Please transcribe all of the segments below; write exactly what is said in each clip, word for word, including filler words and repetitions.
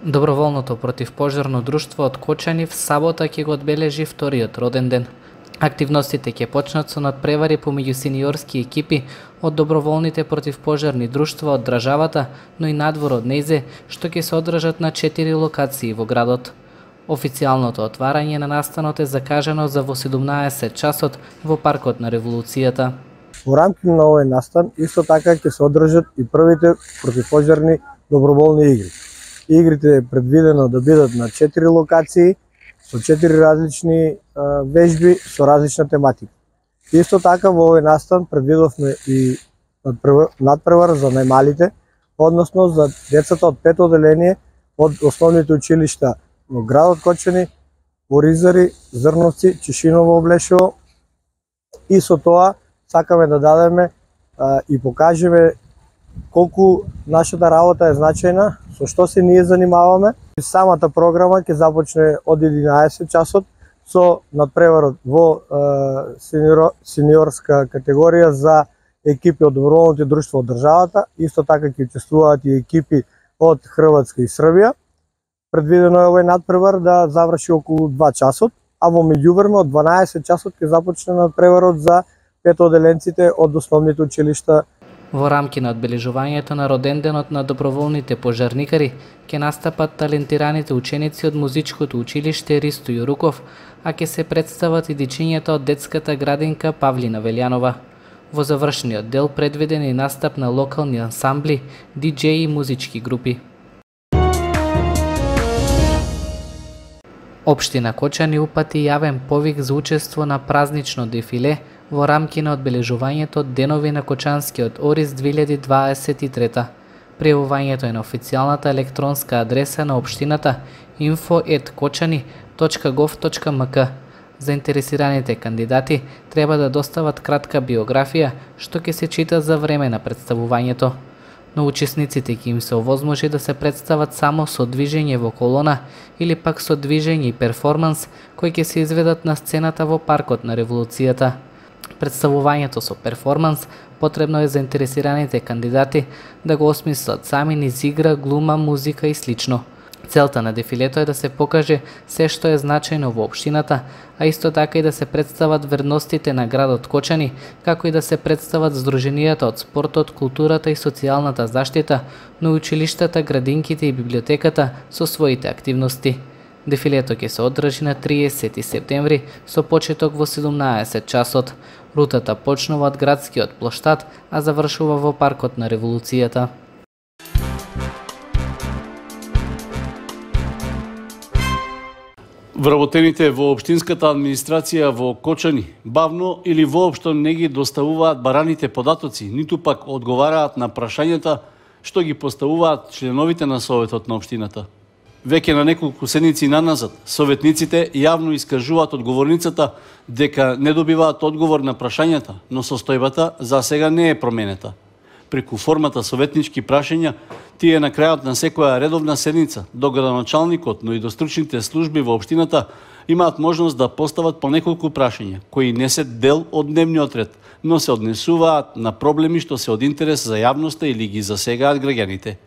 Доброволното противпожарно друштво од Кочани в сабота ќе го одбележи вториот роден ден. Активностите ќе почнат со надпревари помеѓу сениорски екипи од доброволните противпожарни друштва од државата, но и надвор од нејзе, што ќе се одржат на четири локации во градот. Официјалното отварање на настанот е закажано за во седумнаесет часот во паркот на Револуцијата. Во рамките на овој настан исто така ќе се одржат и првите противпожарни доброволни игри. Игрите е предвидено да бидат на четири локации со четири различни а, вежби со различна тематика. Исто така во овој настан предвидовме и надпревар за најмалите, односно за децата од пето оделение од основните училишта во градот Кочани, Оризари, Зрновци, Чешиново, Облешево, и со тоа сакаме да дадеме а, и покажеме колку нашата работа е значајна, со што се ние занимаваме. Самата програма ќе започне од единаесет часот со надпреварот во е, сениор, сениорска категорија за екипи од доброволните друштва од државата. Исто така ќе учествуваат и екипи од Хрватска и Србија. Предвидено е овој надпревар да заврши околу два часот, а во меѓувреме од дванаесет часот ќе започне надпреварот за петоделенците од основните училишта. Во рамки на одбележувањето на роден денот на доброволните пожарникари ќе настапат талентираните ученици од музичкото училиште Ристо Јуруков, а ќе се представат и дечињата од детската градинка Павлина Велјанова. Во завршниот дел предвиден е настап на локални ансамбли, диџеи и музички групи. Општина Кочани упати јавен повик за учество на празнично дефиле во рамки на одбележувањето Денови на Кочанскиот ориз две илјади дваесет и трета. Пријавувањето е на официјалната електронска адреса на општината инфо ет кочани точка гов точка ем ка. Заинтересираните кандидати треба да достават кратка биографија, што ќе се чита за време на представувањето. Но учесниците ќе им се овозможи да се представат само со движење во колона или пак со движење и перформанс кои ќе се изведат на сцената во паркот на Револуцијата. Представувањето со перформанс потребно е заинтересираните кандидати да го осмислат сами низ игра, глума, музика и слично. Целта на дефилето е да се покаже се што е значајно во општината, а исто така и да се представат вредностите на градот Кочани, како и да се представат здруженијата од спортот, културата и социјалната заштита, но и училиштата, градинките и библиотеката со своите активности. Дефилето ќе се одржи на триесети септември со почеток во седумнаесет часот. Рутата почнува од градскиот плоштад, а завршува во паркот на Револуцијата. Вработените во општинската администрација во Кочани бавно или воопшто не ги доставуваат бараните податоци, ниту пак одговараат на прашањата што ги поставуваат членовите на Советот на општината. Веќе на неколку седмици наназад, советниците јавно искажуваат одговорницата дека не добиваат одговор на прашањата, но состојбата за сега не е променета. Преку формата советнички прашања, тие на крајот на секоја редовна седница до градоначалникот, но и до стручните служби во општината имаат можност да постават по неколку прашања, кои не се дел од дневниот ред, но се однесуваат на проблеми што се од интерес за јавноста или ги засегаат граѓаните.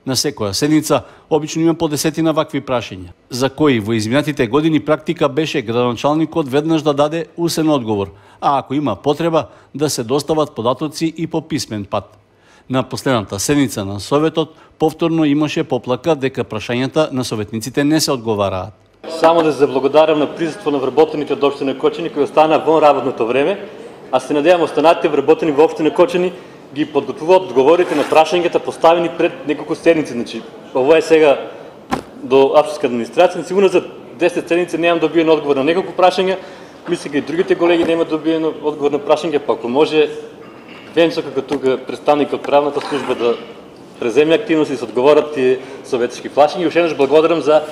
На секоја седница обично има по десетина вакви прашања, за кои во изминатите години практика беше градоначалникот веднаш да даде усен одговор, а ако има потреба да се достават податоци и по писмен пат. На последната седница на Советот повторно имаше поплака дека прашањата на советниците не се одговараат. Само да се заблагодарам на присуство на вработените од општина Кочани кои остана вон работното време, а се надевам останатите вработени во општина Кочани ги подготвуваат одговорите на прашањата поставени пред неколку седници. Значи, ова е сега до општинска администрација, сигурно за десет седници немам добиен одговор на неколку прашања, мислам и другите колеги немаат добиен одговор на прашања, па ако може Венцо како тука представник од правната служба да преземе активност и се одговорат тие советски прашања. И уште еднаш благодарам за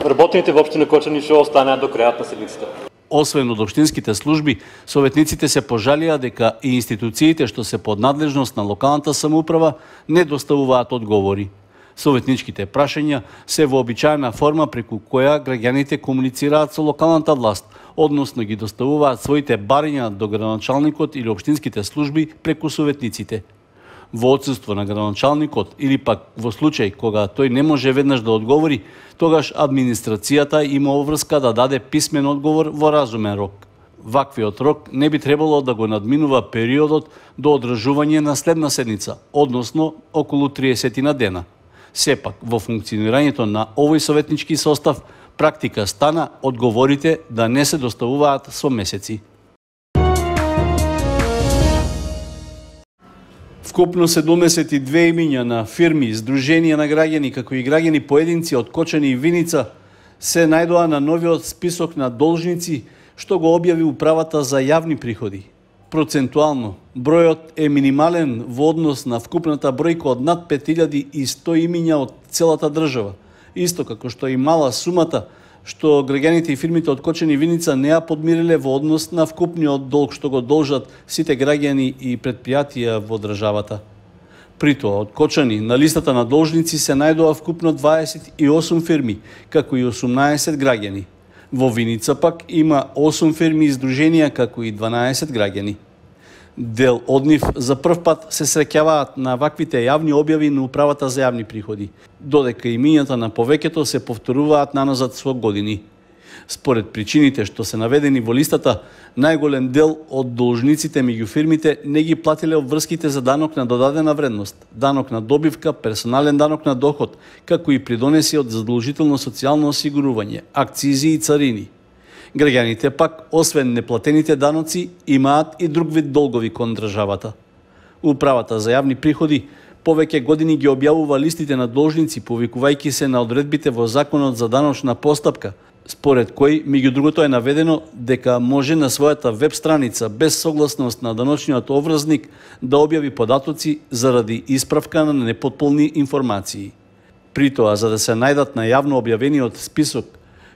работените во општина Кочани што останаа до крајот на седмицата. Освен од општинските служби, советниците се пожалија дека и институциите што се под надлежност на локалната самоуправа не доставуваат одговори. Советничките прашања се вообичаена форма преку која граѓаните комуницираат со локалната власт, односно ги доставуваат своите барања до градоначалникот или општинските служби преку советниците. Во отсуство на градоначалникот или пак во случај кога тој не може веднаш да одговори, тогаш администрацијата има обврска да даде писмен одговор во разумен рок. Ваквиот рок не би требало да го надминува периодот до одржување на следна седница, односно околу триесет на дена. Сепак, во функционирањето на овој советнички состав, практика стана одговорите да не се доставуваат со месеци. Вкупно седумдесет и две имиња на фирми, здруженија на граѓани, како и граѓани поединци од Кочани и Виница се најдоа на новиот список на должници што го објави Управата за јавни приходи. Процентуално, бројот е минимален во однос на вкупната бројка од над пет илјади и сто имиња од целата држава, исто како што и мала сумата што граѓаните и фирмите од Кочани и Виница не ја подмириле во однос на вкупниот долг што го должат сите граѓани и предпријатија во државата. Притоа, од Кочани на листата на должници се најдоа вкупно дваесет и осум фирми, како и осумнаесет граѓани. Во Виница пак има осум фирми и здруженија, како и дванаесет граѓани. Дел од нив за прв пат се среќаваат на ваквите јавни објави на Управата за јавни приходи, додека имињата на повеќето се повторуваат наназад со години. Според причините што се наведени во листата, најголем дел од должниците меѓу фирмите не ги платиле обврските за данок на додадена вредност, данок на добивка, персонален данок на доход, како и придонеси од задолжително социјално осигурување, акцизи и царини. Граѓаните пак, освен неплатените даноци, имаат и друг вид долгови кон државата. Управата за јавни приходи повеќе години ги објавува листите на должници, повикувајќи се на одредбите во Законот за даночна постапка, според кој, меѓу другото, е наведено дека може на својата веб страница без согласност на даночниот обврзник да објави податоци заради исправка на непотполни информации. Притоа, за да се најдат на јавно објавениот список,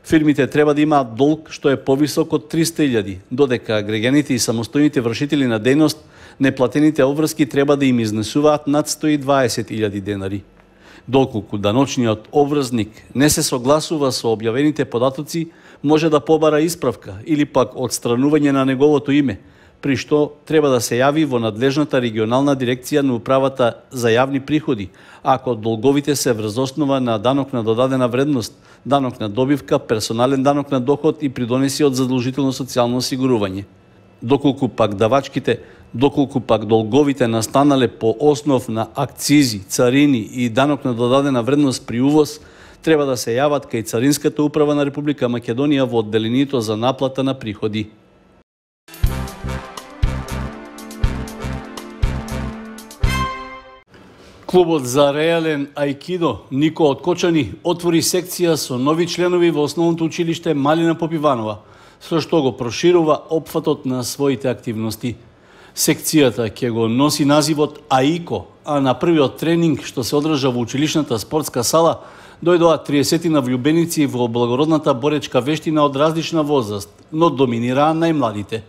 фирмите треба да имаат долг што е повисок од триста илјади, додека граѓаните и самостојните вршители на дејност неплатените обврски треба да им изнесуваат над сто и дваесет илјади денари. Доколку даночниот обврзник не се согласува со објавените податоци, може да побара исправка или пак отстранување на неговото име, при што треба да се јави во надлежната регионална дирекција на Управата за јавни приходи, ако долговите се врз основа на данок на додадена вредност, данок на добивка, персонален данок на доход и придонеси од задолжително социјално осигурување. Доколку пак давачките, доколку пак долговите настанале по основ на акцизи, царини и данок на додадена вредност при увоз, треба да се јават кај Царинската управа на Република Македонија во одделението за наплата на приходи. Клубот за реален аикидо Нико од Кочани отвори секција со нови членови во основното училиште Малина Попиванова, со што го проширува опфатот на своите активности. Секцијата ќе го носи називот АИКО, а на првиот тренинг што се одржа во училишната спортска сала дојдоа триесет влюбеници во благородната боречка вештина од различна возраст, но доминираа најмладите.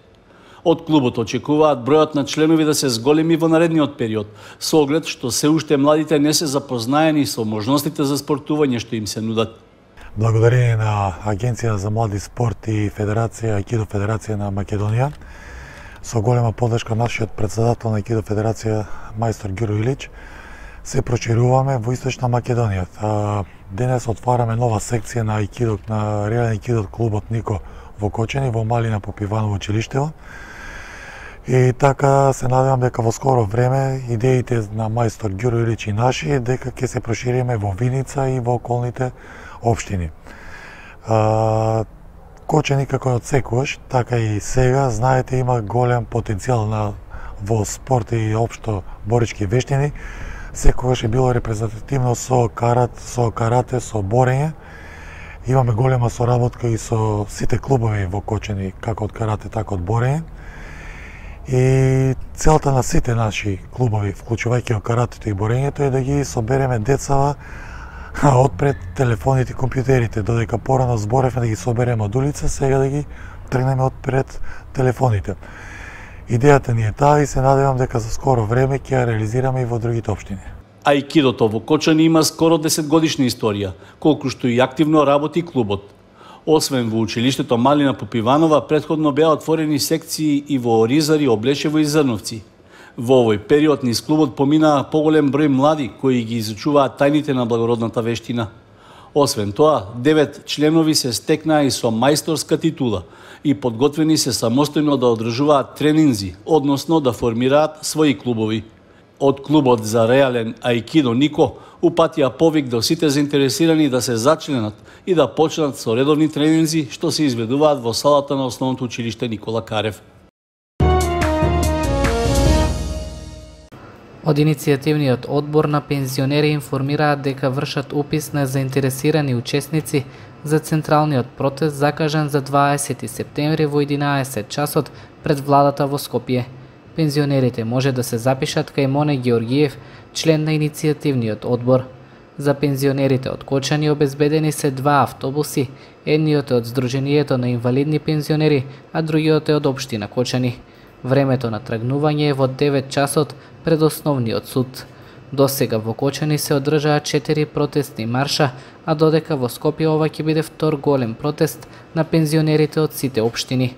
Од клубот очекуваат бројот на членови да се зголеми во наредниот период, со оглед што се уште младите не се запознаени со можностите за спортување што им се нудат. Благодарение на Агенција за млади спорт и Федерација, Аикидо Федерација на Македонија, со голема подршка нашиот председател на Аикидо Федерација, мајстор Гиро Илич, се прошируваме во Источна Македонија. Денес отвараме нова секција на Аикидо, на реален Аикидо клубот Нико во Кочани, во Малина Попиваново училиштево. И така се надевам дека во скоро време идеите на мајстор Гиро Илич и наши дека ќе се прошириме во Виница и во околните општини. А, Кочани, како од секогаш, така и сега, знаете, има голем потенцијал на во спорт и општо борички вештини. Секогаш е било репрезентативно со карат, со карате, со борење. Имаме голема соработка и со сите клубови во Кочани, како од карате, така од борење. И целта на сите наши клубови, вклучувајќи од каратето и борењето, е да ги собереме децава отпред телефоните и компјутерите, додека порано зборевме да ги собереме од улица, сега да ги тргнеме отпред телефоните. Идејата ни е таа и се надевам дека за скоро време ќе ја реализираме и во другите општини. Аикидото во Кочани има скоро десетгодишна историја, колку што и активно работи клубот. Освен во училиштето Малина Попиванова, претходно беа отворени секции и во Оризари, Облешево и Зрновци. Во овој период низ клубот поминаа поголем број млади кои ги изучуваат тајните на благородната вештина. Освен тоа, девет членови се стекнаа и со мајсторска титула и подготвени се самостојно да одржуваат тренинзи, односно да формираат своји клубови. Од клубот за реален аикидо Нико упатија повик до сите заинтересирани да се зачленат и да почнат со редовни тренинзи што се изведуваат во салата на Основното училиште Никола Карев. Од иницијативниот одбор на пензионери информираат дека вршат упис на заинтересирани учесници за централниот протест закажан за дваесети септември во единаесет часот пред владата во Скопје. Пензионерите може да се запишат кај Моне Георгиев, член на иницијативниот одбор. За пензионерите од Кочани обезбедени се два автобуси, едниот е од Сдруженијето на инвалидни пензионери, а другиот е од Општина Кочани. Времето на тргнување е во девет часот пред Основниот суд. Досега во Кочани се одржаа четири протестни марша, а додека во Скопје ова ќе биде втор голем протест на пензионерите од сите општини.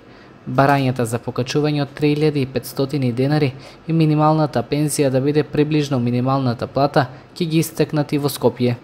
Барањата за покачување од три илјади и петстотини денари и минималната пензија да биде приближно минималната плата ќе ги истекнати во Скопје.